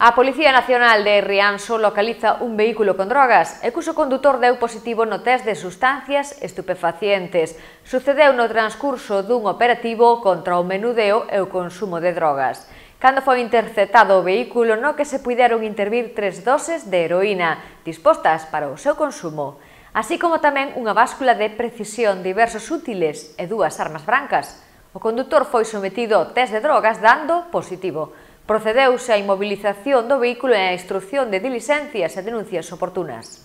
A Policía Nacional de Rianxo localiza un vehículo con drogas e cuso condutor deu positivo no test de sustancias estupefacientes. Sucedeu no transcurso dun operativo contra o menudeo e o consumo de drogas. Cando foi interceptado o vehículo no que se puideron intervir 3 doses de heroína dispostas para o seu consumo, así como tamén unha báscula de precisión, diversos útiles e 2 armas brancas. O condutor foi sometido ao test de drogas dando positivo. Procedeuse á inmovilización do vehículo e á instrución de dilixencias e denuncias oportunas.